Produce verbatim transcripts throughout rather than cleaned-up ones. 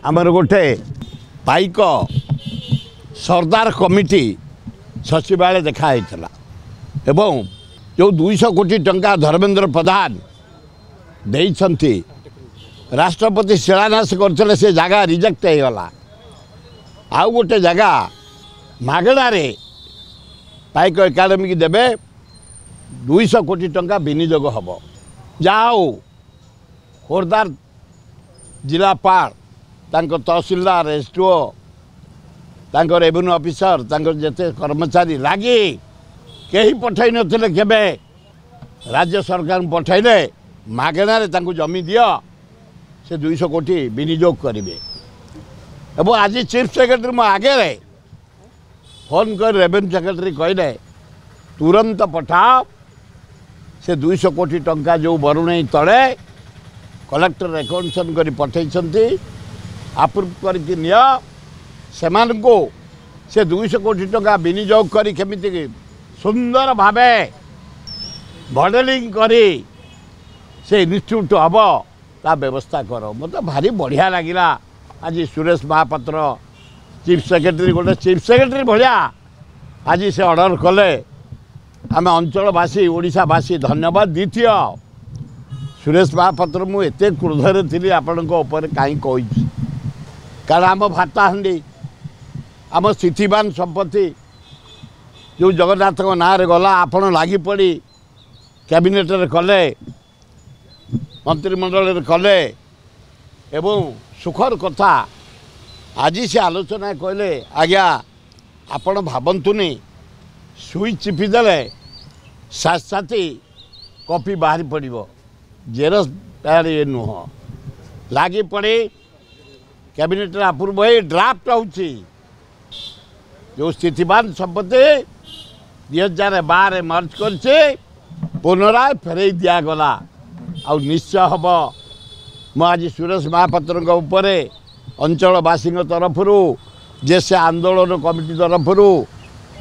ଆମର ଗୋଟେ ପାଇକ ସର୍ଦ୍ଦାର କମିଟି ସଚିବାଳୟ ଦେଖା ହେଇଥିଲା ଏବଂ ଯେଉଁ ଦୁଇଶହ କୋଟି ଟଙ୍କା ଧର୍ମେନ୍ଦ୍ର ପ୍ରଧାନ ଦେଇଛନ୍ତି, ରାଷ୍ଟ୍ରପତି ଶିଳାନ୍ୟାସ କରିଥିଲେ, ସେ ଜାଗା ରିଜେକ୍ଟ ହେଇଗଲା। ଆଉ ଗୋଟେ ଜାଗା ମାଗଣାରେ ପାଇକ ଏକାଡେମୀକି ଦେବେ, ଦୁଇଶହ କୋଟି ଟଙ୍କା ବିନିଯୋଗ ହେବ। ଯାହା ହଉ, ଖୋର୍ଦ୍ଧାର ଜିଲ୍ଲାପାଳ, ତାଙ୍କ ତହସିଲଦାର, ଏସ୍ ଡି ଓ, ତାଙ୍କ ରେଭିନ୍ୟୁ ଅଫିସର, ତାଙ୍କର ଯେତେ କର୍ମଚାରୀ ଲାଗି କେହି ପଠାଇ ନଥିଲେ କେବେ, ରାଜ୍ୟ ସରକାରଙ୍କୁ ପଠାଇଲେ, ମାଗଣାରେ ତାଙ୍କୁ ଜମି ଦିଅ, ସେ ଦୁଇଶହ କୋଟି ବିନିଯୋଗ କରିବେ। ଏବଂ ଆଜି ଚିଫ୍ ସେକ୍ରେଟାରୀ ମୋ ଆଗରେ ଫୋନ୍ କରି ରେଭିନ୍ୟୁ ସେକ୍ରେଟାରୀ କହିଲେ, ତୁରନ୍ତ ପଠାଅ ସେ ଦୁଇଶହ କୋଟି ଟଙ୍କା ଯେଉଁ ବରୁଣେଇ ତଳେ କଲେକ୍ଟର ରେକଗ୍ନିସନ୍ କରି ପଠାଇଛନ୍ତି, ଆପ୍ରୁଭ୍ କରିକି ନିଅ ସେମାନଙ୍କୁ। ସେ ଦୁଇଶହ କୋଟି ଟଙ୍କା ବିନିଯୋଗ କରି କେମିତି ସୁନ୍ଦର ଭାବେ ମଡ଼େଲିଂ କରି ସେ ଇନଷ୍ଟିଚ୍ୟୁଟ୍ ହେବ, ତା ବ୍ୟବସ୍ଥା କର। ମୋତେ ଭାରି ବଢ଼ିଆ ଲାଗିଲା ଆଜି ସୁରେଶ ମହାପାତ୍ର ଚିଫ୍ ସେକ୍ରେଟାରୀ, ଗୋଟେ ଚିଫ୍ ସେକ୍ରେଟାରୀ ଭଳିଆ ଆଜି ସେ ଅର୍ଡ଼ର କଲେ। ଆମେ ଅଞ୍ଚଳବାସୀ, ଓଡ଼ିଶାବାସୀ ଧନ୍ୟବାଦ। ଦ୍ୱିତୀୟ, ସୁରେଶ ମହାପାତ୍ର, ମୁଁ ଏତେ କ୍ରୋଧରେ ଥିଲି ଆପଣଙ୍କ ଉପରେ, କାହିଁ କହିଛି, କାରଣ ଆମ ଭାତାହାଣ୍ଡି, ଆମ ସ୍ଥିତିବାନ ସମ୍ପତ୍ତି ଯେଉଁ ଜଗନ୍ନାଥଙ୍କ ନାଁରେ ଗଲା, ଆପଣ ଲାଗିପଡ଼ି କ୍ୟାବିନେଟ୍ରେ କଲେ, ମନ୍ତ୍ରିମଣ୍ଡଳରେ କଲେ। ଏବଂ ସୁଖର କଥା, ଆଜି ସେ ଆଲୋଚନା କହିଲେ, ଆଜ୍ଞା ଆପଣ ଭାବନ୍ତୁନି ସୁଇଚ୍ ଚିପିଦେଲେ ସାଥି କପି ବାହାରି ପଡ଼ିବ, ଜେରକ୍ସ ତାର ଇଏ ନୁହଁ। ଲାଗି ପଡ଼ି କ୍ୟାବିନେଟ୍ରେ ଆପ୍ରୁଭ୍ ହେଇ ଡ୍ରାଫ୍ଟ ହେଉଛି, ଯେଉଁ ସ୍ଥିତିବାନ ସମ୍ପତ୍ତି ଦୁଇ ହଜାର ବାର ମର୍ଜ କରିଛି, ପୁନରାୟ ଫେରେଇ ଦିଆଗଲା ଆଉ ନିଶ୍ଚୟ ହେବ। ମୁଁ ଆଜି ସୁରେଶ ମହାପାତ୍ରଙ୍କ ଉପରେ ଅଞ୍ଚଳବାସୀଙ୍କ ତରଫରୁ, ଯେ ସେ ଆନ୍ଦୋଳନ କମିଟି ତରଫରୁ,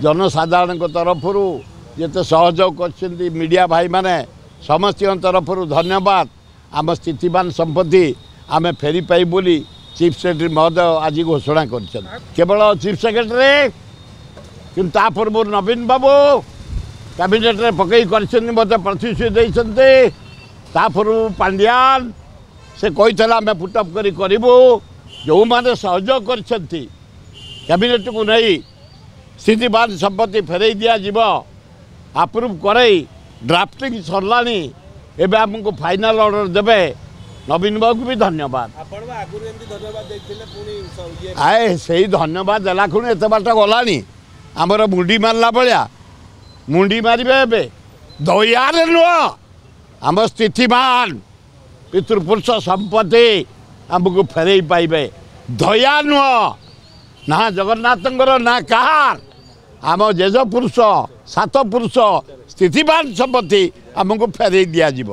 ଜନସାଧାରଣଙ୍କ ତରଫରୁ, ଯେତେ ସହଯୋଗ କରିଛନ୍ତି ମିଡ଼ିଆ ଭାଇମାନେ, ସମସ୍ତଙ୍କ ତରଫରୁ ଧନ୍ୟବାଦ। ଆମ ସ୍ଥିତିବାନ ସମ୍ପତ୍ତି ଆମେ ଫେରି ପାଇବୁ ବୋଲି ଚିଫ୍ ସେକ୍ରେଟାରୀ ମହୋଦୟ ଆଜି ଘୋଷଣା କରିଛନ୍ତି। କେବଳ ଚିଫ୍ ସେକ୍ରେଟାରୀ, କିନ୍ତୁ ତା ପୂର୍ବରୁ ନବୀନ ବାବୁ କ୍ୟାବିନେଟ୍ରେ ପକାଇ କରିଛନ୍ତି, ମୋତେ ପ୍ରତିଶ୍ରୁତି ଦେଇଛନ୍ତି। ତା ପୂର୍ବରୁ ପାଣ୍ଡିଆନ ସେ କହିଥିଲା ଆମେ ପୁଟଅପ୍ କରି କରିବୁ। ଯେଉଁମାନେ ସହଯୋଗ କରିଛନ୍ତି କ୍ୟାବିନେଟ୍କୁ ନେଇ ସ୍ଥିତିବାନ ସମ୍ପତ୍ତି ଫେରାଇ ଦିଆଯିବ, ଆପ୍ରୁଭ୍ କରେଇ ଡ୍ରାଫ୍ଟିଂ ସରିଲାଣି, ଏବେ ଆମକୁ ଫାଇନାଲ୍ ଅର୍ଡ଼ର ଦେବେ। ନବୀନ ବାବୁକୁ ବି ଧନ୍ୟବାଦ। ଆଏ, ସେଇ ଧନ୍ୟବାଦ ଦେଲା ଖୁଣି ଏତେ ବାଟ ଗଲାଣି। ଆମର ମୁଣ୍ଡି ମାରିଲା ଭଳିଆ ମୁଣ୍ଡି ମାରିବେ ଏବେ, ଦୟାରେ ନୁହଁ, ଆମ ସ୍ଥିତିବାନ ପିତୃପୁରୁଷ ସମ୍ପତ୍ତି ଆମକୁ ଫେରେଇ ପାଇବେ। ଦୟା ନୁହଁ ନା ଜଗନ୍ନାଥଙ୍କର ନା କାହାର, ଆମ ଜେଜ ପୁରୁଷ ସାତ ପୁରୁଷ ସ୍ଥିତିବାନ ସମ୍ପତ୍ତି ଆମକୁ ଫେରେଇ ଦିଆଯିବ।